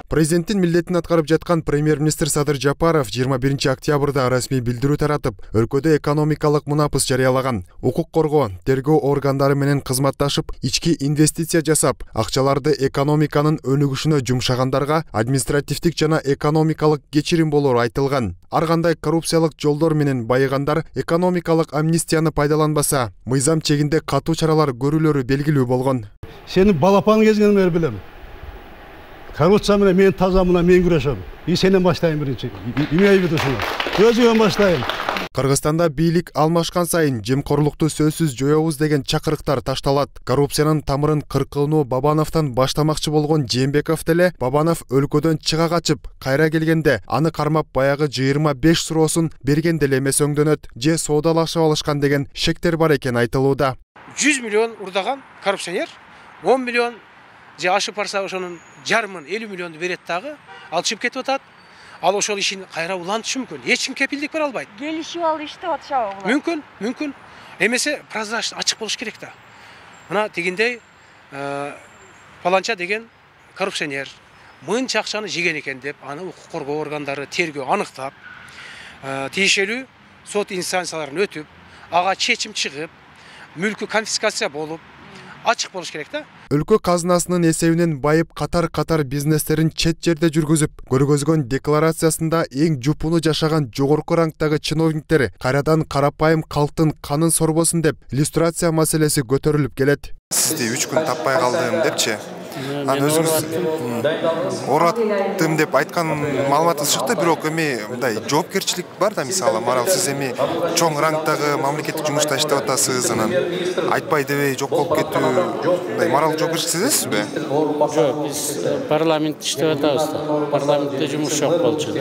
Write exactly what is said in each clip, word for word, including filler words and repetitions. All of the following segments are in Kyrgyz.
Президенттин милдетин аткарып жаткан премьер-министр Садыр Жапаров жыйырма биринчи октябрда расмий билдирүү таратып, өлкөдө экономикалык мунапыс жарыялаган. Укук коргоо, тергөө органдары менен кызматташып, ички инвестиция жасап, акчаларды экономиканын өнүгүшүнө жумшагандарга административдик жана экономикалык кечирим болору айтылган. Ар кандай коррупциялык жолдор менен байыгандар экономикалык амнистияны пайдаланбаса, мыйзам чегинде катуу чаралар көрүлөрү белгилүү болгон. Сени балапан кезиңден бери билем. Коррупция менен мен тазамына мен күрөшөм. И сенен баштайм биринчи. Эмне бүтүшүң? Өзүңөн баштайм. Кыргызстанда бийлик алмашкан сайын жемкорлукту сөзсүз жоёбуз деген чакырыктар ташталат. Коррупциянын тамырын кыркууну Бабановдон баштамакчы болгон Жээнбеков деле Бабанов өлкөдөн чыга качып, кайра келгенде аны кармап баягы жыйырма беш суроосун берген деле эмес өңдөнөт, же соодалашып алышкан деген шектер бар экен айтылууда. жүз миллион урдаган коррупционер он миллион же ашып барса ошонун жарымын элүү миллионду берет дагы, ал чыгып кетип атат. Ал ошол ишин кайра улантышы мүмкүн. Эч ким кепилдик бере албайт. Келишип алып иштеп атышабы булар? Мүмкүн, мүмкүн. Эмесе прозрачный, ачык болуш керек да. Мына тигиндей паланча деген коррупционер мынча акчаны жеген экен деп, аны укук коргоо органдары тергөө аныктап, тиешелүү сот инстанцияларын өтүп, ага чечим чыгып, мүлкү конфискация болуп, ачык болуш керек да. Өлкө казынасынын эсебинен байып катар-катар бизнестерин чет жерде жүргүзүп, көргөзгөн декларациясында эң жупуну жашаган жогорку рангдагы чиновниктер кайрадан карапайым калктын канын сорбосун деп иллюстрация маселеси көтөрүлүп келет. Сизди үч күн таппай калдым депчи. Аны өзүңүз ораттым деп айткан маалыматыңыз чыкты, бирок эми мындай жоопкерчилик бар да, мисалы, марал сиз эми чоң рангдагы мамлекеттик жумушта иштеп атасыз, анан айтпай дебей жок болуп кетүү, мындай морал жоопкерчилик сезесизби? Жок, биз парламентте иштеп атабыз да. Парламентте жумуш жок болчу.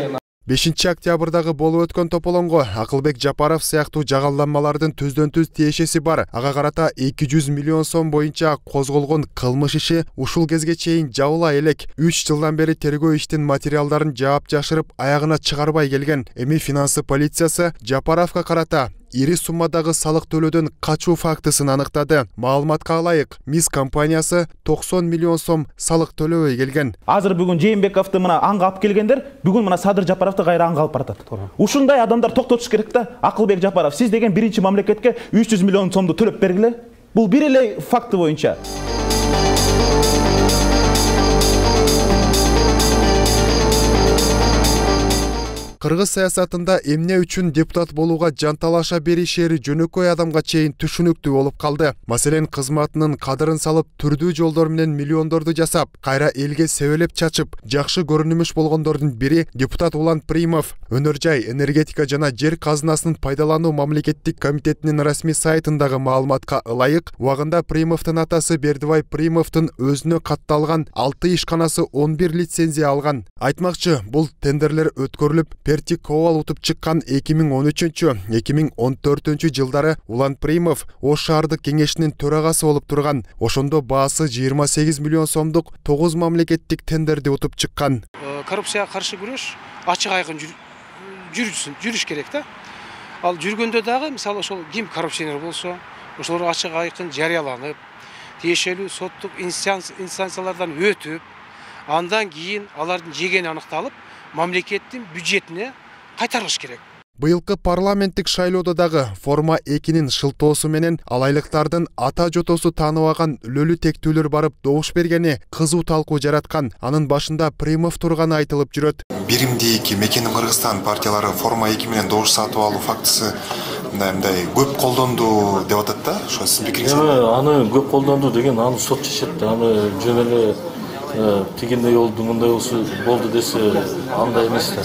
бешинчи октябрдагы болуп өткөн тополоңго Акылбек Жапаров сыяктуу жагалданмалардын түздөн түз тиешеси бар. Ага карата эки жүз миллион сом боюнча козголгон кылмыш иши ушул кезге чейин жабыла элек. үч жылдан бери тергөө иштин материалдарын жаап жашырып аягына чыгарбай келген. Эми финансы полициясы Жапаровго карата ири суммадагы салык төлөөдөн качуу фактысын аныктады. Маалыматка ылайык, МИС компаниясы токсон миллион сом салык төлөбөй келген. Азыр бүгүн Жээнбековду мына анга алып келгендер, бүгүн мына Садыр Жапаровду кайра анга алып баратат. Ушундай адамдар токтотуш керек да. Акылбек Жапаров, сиз деген биринчи мамлекетке үч жүз миллион сомду төлөп бергиле. Бул бир эле факты боюнча. Кыргыз саясатында эмне үчүн депутат болууга жанталаша беришери жөнөкөй адамга чейин түшүнүктүү болуп калды. Маселен, кызматынын кадырын салып, түрдүү жолдор менен миллиондорду жасап, кайра элге себелеп чачып, жакшы көрүнүмүш болгондордун бири депутат Улан Примов. Өнөр жай, энергетика жана жер казынасынын пайдалануу мамлекеттик комитетинин расмий сайтындагы маалыматка ылайык, убагында Примовдун атасы Бердибай Примовдун өзүнө катталган алты ишканасы он бир лицензия алган. Айтмакчы, бул тендерлер өткөрүлүп, Перти Ковал утуп чыккан эки миң он үчүнчү — эки миң он төртүнчү жылдары Улан Примов Ош шаардык кеңешинин төрагасы болуп турган. Ошондо баасы жыйырма сегиз миллион сомдук тогуз мамлекеттик тендерди утуп чыккан. Коррупцияга каршы күрөш ачык айкын жүрүшсүн, жүрүш керек да. Ал жүргөндө дагы, мисалы, ошол ким коррупционер болсо, ошолор ачык айкын жарыяланып, тиешелүү соттук инстанциялардан өтүп, андан кийин алардын жегени аныкталып, мамлекеттин бюджетине кайтарылыш керек. Быйылкы парламенттик шайлоодо дагы форма экинин шылтоосу менен алайлыктардын ата жотосу тааныбаган өлөлүү тектүүлөр барып добуш бергени кызуу талкуу жараткан. Анын башында Примов турганы айтылып жүрөт. Биримдик Мекеним Кыргызстан партиялары форма эки менен добуш сатып алуу фактысы мындай көп колдонду деп атат да. Ошо сиздин пикириңиз? Аны көп колдонду деген аны сот чечет да. Аны жөн эле тигиндей болду, мындай болду десе андай эмес да.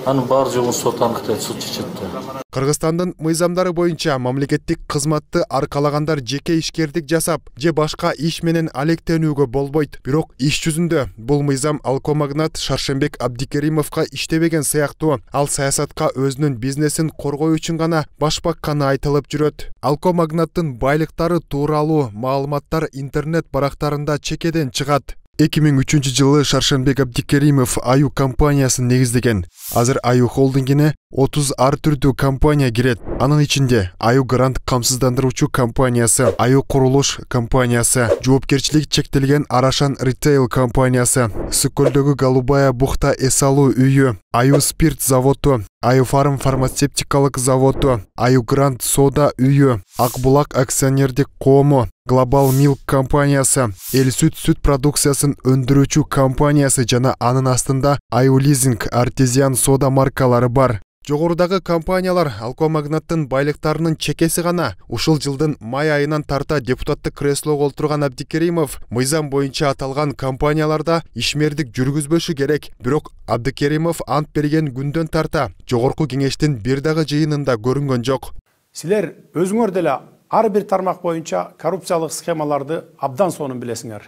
Анын баары жогун сот аныктайт, сот чечет да. Кыргызстандын мыйзамдары боюнча мамлекеттик кызматты аркалагандар жеке ишкердик жасап, же башка иш менен алектенүүгө болбойт. Бирок иш жүзүндө бул мыйзам алкомагнат Шаршембек Абдикеримовго иштебеген сыяктуу. Ал саясатка өзүнүн бизнесин коргоо үчүн гана баш бакканы айтылып жүрөт. Алкомагнаттын байлыктары тууралуу маалыматтар интернет барактарында чекеден чыгат. эки миң үчүнчү жылы Шаршембек Абдикеримов Аю компаниясын негиздеген. Азыр Аю холдингине отуз ар түрдүү компания кирет. Анын ичинде Аю Грант камсыздандыруучу компаниясы, Аю Курулуш компаниясы, жоопкерчилиги чектелген Арашан Ритейл компаниясы, Сүкөлдөгү Голубая бухта эс алуу үйү, Аю Спирт заводу, Аю Фарм фармацевтикалык заводу, Аю Грант сода үйү, Акбулак акционердик коому, Глобал Милк компаниясы, Эл сүт сүт продукциясын өндүрүүчү компаниясы жана анын астында Аю Лизинг, Артезиан сода маркалары бар. Жогорудагы компаниялар алкомагнаттын байлыктарынын чекеси гана. Ушул жылдын май айынан тарта депутаттык креслого олтурган Абдикеримов мыйзам боюнча аталган компанияларда ишмердик жүргүзбөшү керек. Бирок Абдикеримов ант берген күндөн тарта жогорку кеңештин бир дагы жыйынында көрүнгөн жок. Силер өзүңөр деле ар бир тармак боюнча коррупциялык схемаларды абдан сонун билесиңер.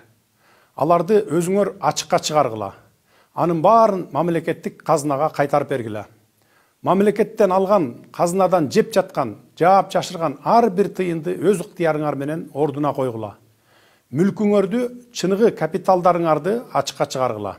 Аларды өзүңөр ачыкка чыгаргыла. Анын баарын мамлекеттик казынага кайтарып бергиле. Мамлекеттен алган, казынадан жеп жаткан, жаап жашырган ар бир тыйынды өз ыктыярыңар менен ордуна койгула. Мүлкүңөрдү, чыныгы капиталдарыңарды ачыкка чыгаргыла.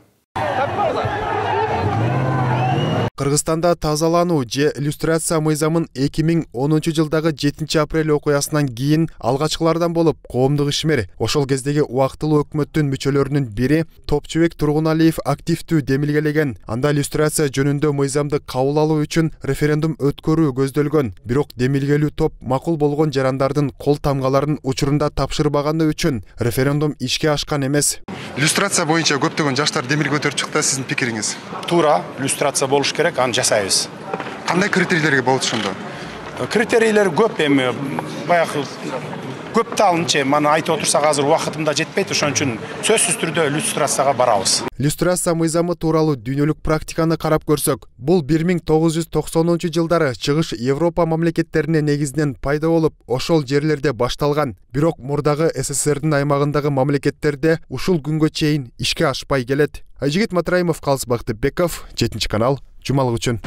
Кыргызстанда тазалануу же иллюстрация мыйзамын эки миң онунчу жылдагы жетинчи апрель окуясынан кийин алгачкылардан болуп коомдук ишмер, ошол кездеги убактылуу өкмөттүн мүчөлөрүнүн бири Топчубек Тургуналиев активдүү демилгелеген. Анда иллюстрация жөнүндө мыйзамды кабыл алуу үчүн референдум өткөрүү көздөлгөн. Бирок демилгелүү топ макул болгон жарандардын кол тамгаларын учурунда тапшырбаганы үчүн референдум ишке ашкан эмес. Иллюстрация боюнча көптөгөн жаштар демилге көтөрүп чыкты, сиздин пикириңиз? Туура, иллюстрация болуш керек, аны жасайбыз. Кандай критерийлерге болот ошондо? Критерийлер көп эми, баягы көп талынчы, мана айтып отурсак азыр убакытымда жетпейт, ошон үчүн сөзсүз түрдө иллюстрацияга барабыз. Иллюстрация мыйзамы тууралуу дүйнөлүк практиканы карап көрсөк, бул бир миң тогуз жүз токсонунчу жылдары чыгыш Европа мамлекеттерине негизинен пайда болуп, ошол жерлерде башталган. Бирок мурдагы СССРдин аймагындагы мамлекеттерде ушул күнгө чейин ишке ашпай келет. Айжигит Матраимов, Калыс Бактыбеков, жетинчи канал, жумалык үчүн.